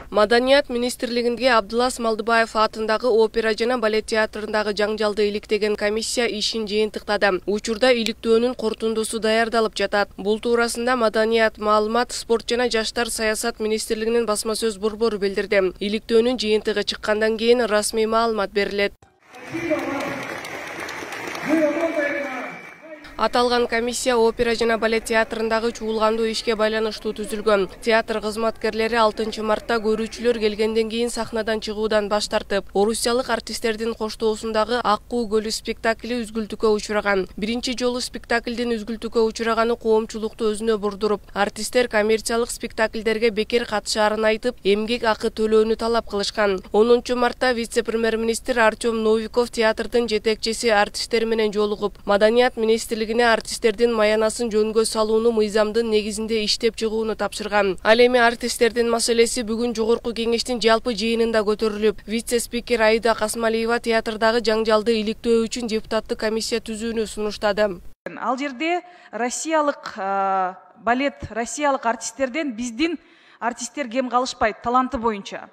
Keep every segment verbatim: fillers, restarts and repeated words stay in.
Маданият министрлигинде Абдылас Малдыбаев атындагы опера жана балет театрындагы жаңжалды иликтеген комиссия ишин жыйынтыктады. Учурда иликтөөнүн корутундусу даярдалып жатат. Бул туурасында Маданият, маалымат, спорт жана жаштар саясат министрлигинин басма сөз борбору билдирди. Иликтөөнүн жыйынтыгы чыккандан кийин расмий маалымат берилет. Аталган комиссия опера жана балет театрындагы чуулгандуу ишке байланыштуу түзүлгөн. Театр кызматкерлери алтынчы мартта көрүүчүлөр келгенден кийин сахнадан чыгуудан баш тартып, орусиялык артисттердин коштоосундагы Аккуу көлү спектакли үзгүлтүүгө учураган. Биринчи жолу спектаклдин үзгүлтүүгө учураганы коомчулукту өзүнө бурдуруп, артисттер коммерциялык спектакльдерге бекер катышаарын айтып, эмгек акы төлөөнү талап кылышкан. онунчу мартта вице-премьер-министр Артем Новиков театрдын жетекчиси артисттер менен жолугуп, Маданият министрлиги артисттердин маянасын жөнгө салууну мыйзамдын негизинде иштеп чыгууну тапшырган. Ал эми артисттердин маселеси бүгүн жогорку кеңештин жалпы жыйынында көтөрүлүп, вице-спикер Аида Касмалиева театрдагы жаңжалды иликтөө үчүн депутаттык комиссия түзүүнү сунуштады. Ал жерде россиялык балет, россиялык артисттерден биздин артисттер кем калышпайт таланты боюнча.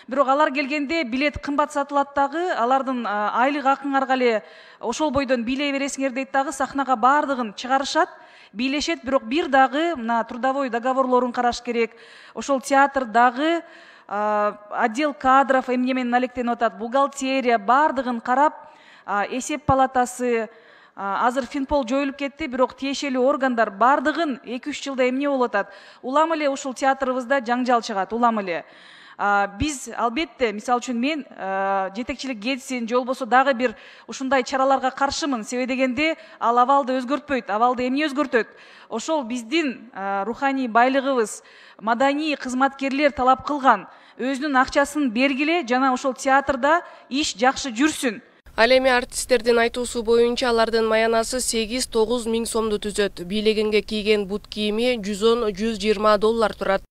Бирок алар келгенде билет кымбат сатылат дагы, алардын айлык акыңарга эле ошол бойдон бийлей бересиңер дейт дагы, сахнага баардыгын чыгарышат, бийлешет, бирок бир дагы мына трудовой договорлорун караш керек. Ошол театрдагы отдел кадров эмне менен алектенип атат, бухгалтерия баардыгын карап, эсеп палатасы, азыр Финпол жоюлуп кетти, бирок тиешелүү органдар баардыгын эки үч жылда эмне болуп атат. Улам эле ушул театрыбызда жаңжал чыгат, улам эле. Биз албетте, мисалы үчүн мен жетекчилик кетсин, же болбосо дагы бир ушундай чараларга каршымын. Себеби дегенде ал абалды өзгөртпөйт, абалды эмне өзгөртөт? Ошол биздин руханий байлыгыбыз, маданий кызматкерлер талап кылган өзүнүн акчасын бергиле жана ошол театрда иш жакшы жүрсүн. Ал эми артисттердин айтуусу боюнча алардын маянасы сегиз тогуз миң сомду түзөт. Бийлегенге кийген бут кийими жүз он — жүз жыйырма доллар турат.